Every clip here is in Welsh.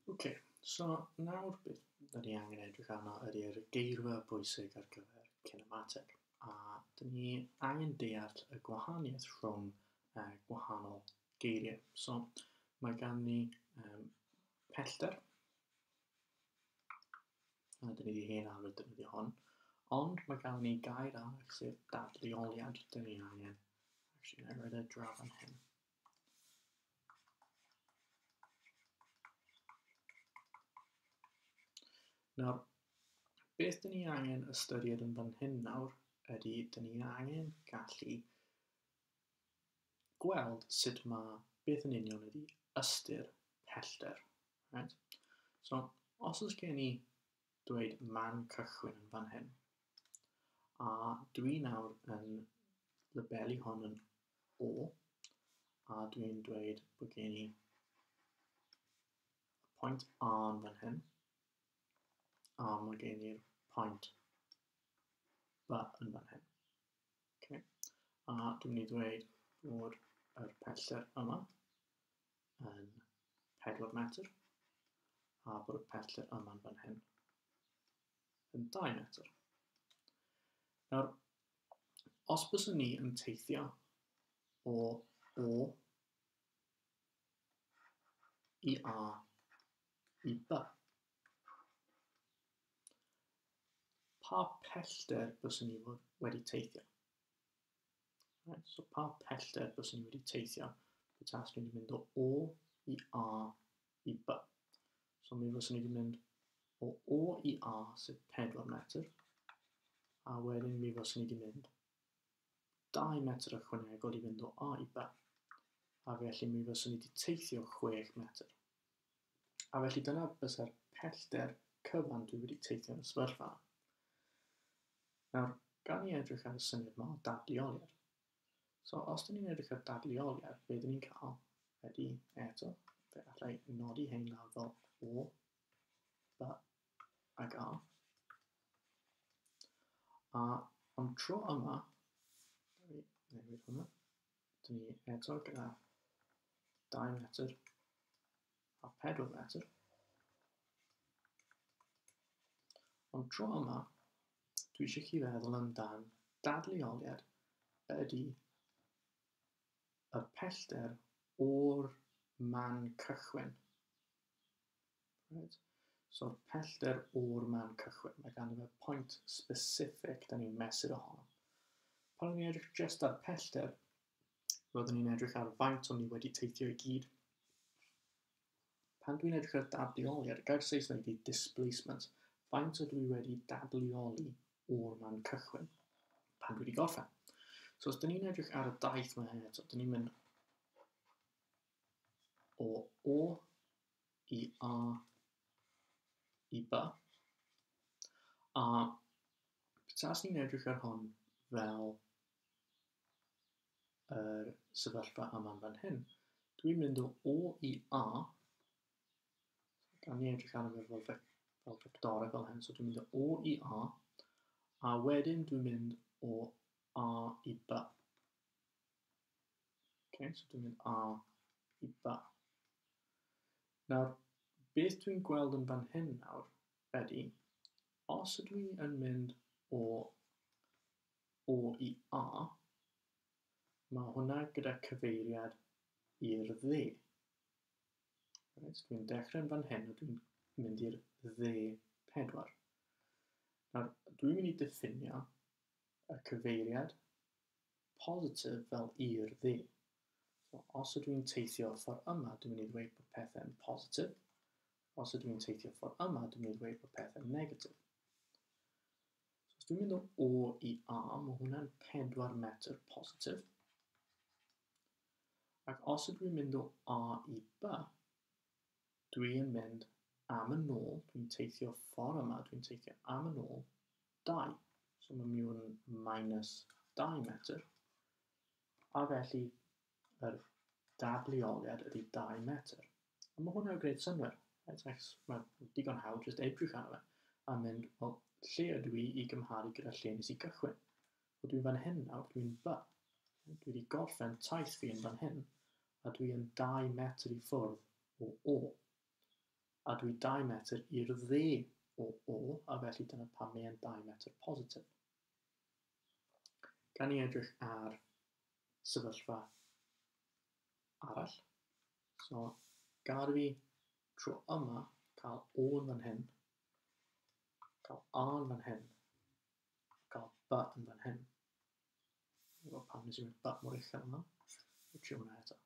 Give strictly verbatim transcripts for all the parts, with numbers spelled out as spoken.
Ok, so nawr beth da ni angen edrych arno ydy'r geirfa bwysig ar gyfer cinemateg. A dyn ni angen deall y gwahaniaeth rhwng uh, gwahanol geiriau. So mae gan ni um, pellter, a dyn ni wedi hen arfer defnyddio hwn, ond mae gan ni gair arall sef dadleoliad. Dyn ni angen, actually, na i roed e draw fan hyn. Nawr, beth dyn ni angen ystyried yn fan hyn nawr ydy dyn ni angen gallu gweld sut mae beth yn union ydy ystyr pellter. Right? So, os oes gen i dweud man cychwyn yn fan hyn, a dwi nawr yn labelu hwn yn O, a dwi'n dweud bod gen i pwynt A yn fan hyn, a mae gen i'r pwynt B yn fan hyn. Okay. A dwi'n mynd i ddweud bod yr pellter yma yn pedwar metr, a bod y pellter yma yn fan hyn yn dau metr. Nawr, os byswn ni yn teithio o O i A i B, pa pellter byswn ni wedi teithio? Right, so pa pellter byswn ni wedi teithio pe taswn ni wedi mynd o O i A i B? So mi fyswn ni wedi mynd o O i A, sef pedwar metr, a wedyn mi fyswn ni wedi mynd dau metr ychwanegol i fynd o A i B, a felly mi fyswn ni wedi teithio chwech metr. A felly dyna bysa'r pellter cyfan dwi wedi teithio yn y sefyllfa. Nawr, gan ni edrych ar y syniad yma o dadleoliad. So, os dyn ni'n edrych ar dadleoliad, be dyn ni'n cael ydy, eto, fe allai nodi hein lawr fel O, B ac A. A ond tro yma, newid hwnna, dyn ni eto gyda dau metr a pedwar metr. Ond tro yma, dwi eisiau chi feddwl amdan dadleoliad ydy y pellter o'r man cychwyn. Right? So'r pellter o'r man cychwyn, mae ganddo fe pwynt specific da ni'n mesur ohono. Pan o'n i'n edrych just ar pellter, roeddwn ni'n edrych ar faint o'n ni wedi teithio i gyd. Pan dwi'n edrych ar dadleoliad, y gair Saesneg ydy displacement, faint ydw i wedi dadleoli o'r man cychwyn pan dwi wedi gorffen. So os dyn ni'n edrych ar y daith yma eto, dyn ni'n mynd o O i A i B. A petas ni'n edrych ar hwn fel yr sefyllfa yma fan hyn, dwi'n mynd o O i A, gan ni edrych arno fe fel, fel fectorau fel hyn, so dwi'n mynd o O i A, a wedyn dwi'n mynd o A i B. Okay, so dwi'n mynd A i B. Nawr, beth dwi'n gweld yn fan hyn nawr ydy, os ydw i yn mynd o O i A, mae hwnna gyda cyfeiriad i'r dde. Right, so dwi'n dechrau yn fan hyn a dwi'n mynd i'r dde pedwar. Nawr, dwi'n mynd i diffinio y cyfeiriad positif fel i'r dde. So, os ydw i'n teithio ffordd yma, dwi'n mynd i ddweud bod pethau'n positif. Os ydw i'n teithio ffordd yma, dwi'n mynd i ddweud bod pethau'n negatif. So, os dwi'n mynd o O i A, mae hwnna'n pedwar metr positif. Ac os ydw i'n mynd o A i B, dwi'n mynd am yn ôl, dwi'n teithio ffordd yma, dwi'n teithio am yn ôl dau. So mae'n mynd yn minus dau metr. A felly, yr dadleoliad ydy dau metr. A mae hwnna'n gwneud synnwyr. Right? Achos mae'n digon hawdd jyst edrych arno fe a mynd, wel, lle ydw i i gymharu gyda lle nes i gychwyn? Wel, dwi'n fan hyn nawr, dwi'n B. Dwi wedi gorffen taith fi yn fan hyn, a dwi yn dau metr i ffwrdd o O. A dwi dau metr i'r dde o O, a felly dyna pam mae e'n dau metr positif. Gan ni edrych ar sefyllfa arall. So, gad i fi tro yma cael O yn fan hyn, cael A yn fan hyn, cael B yn fan hyn. Dwi'n gwybod pam nes i mynd B mor uchel yma. Dwi'n trio hwnna eto.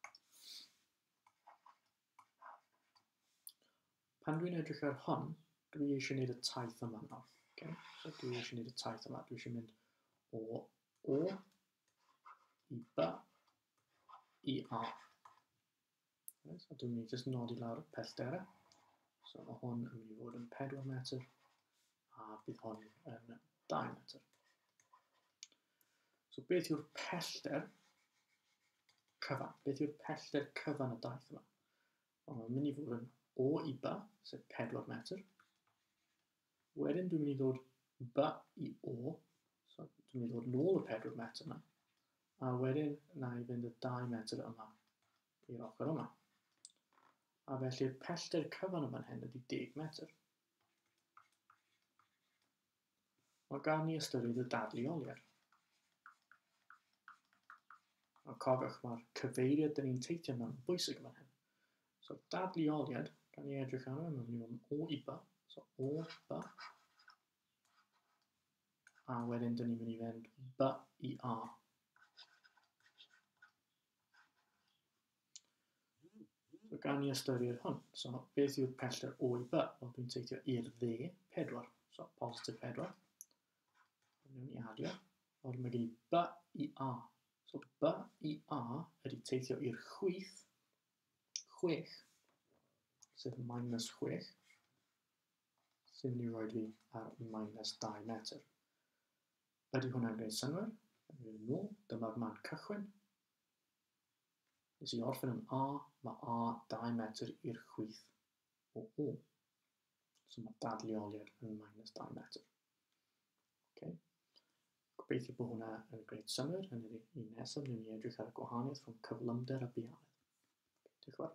Pan dwi'n edrych ar hwn, dwi eisiau gwneud y taith yma nawr. Okay? So dwi eisiau gwneud y taith yma. Dwi eisiau mynd o O i B i A. Okay? So dwi'n mynd i just nodi lawr y pellterau. So mae hwn yn mynd i fod yn pedwar metr a bydd hwn yn dau metr. So beth yw'r pellter cyfan? Beth yw'r pellter cyfan y daith yma? Wel, mae'n mynd i fod yn O i B, sef pedwar metr. Wedyn dwi'n mynd i ddod B i O, so dwi'n mynd i ddod nôl y pedwar metr yna. A wedyn na i fynd y dau metr yma i'r ochr yma. A felly'r pellter cyfan yma'n hyn ydy deg metr. Mae gan ni ystyried y dadleoliad. A cofiwch, mae'r cyfeiriad dyn ni'n teithio mewn yn bwysig yma hyn. So dadleoliad, gan ni edrych arno, mae'n mynd i fod yn O i B, so O, B. A wedyn dyn ni'n mynd i fynd B i A. So gan ni ystyried hwn. So beth yw'r pellter O i B? Wel, dwi'n teithio i'r dde, pedwar. So positif pedwar. Wnawn ni adio. Ond mae gen i B i A. So B i A ydy teithio i'r chwith, chwech, sef minus chwech, sy'n mynd i roi fi ar minus dau metr. Ydy hwnna'n gwneud synnwyr? Yn nôl, dyma'r man cychwyn. Nes i orffen yn A, mae A dau metr i'r chwith o O. So mae dadleoliad yn minus dau metr. Okay. Gobeithio bod hwnna yn gwneud synnwyr. Yn yr un nesaf, wnawn ni edrych ar y gwahaniaeth rhwng cyflymder a buanedd. Diolch yn fawr.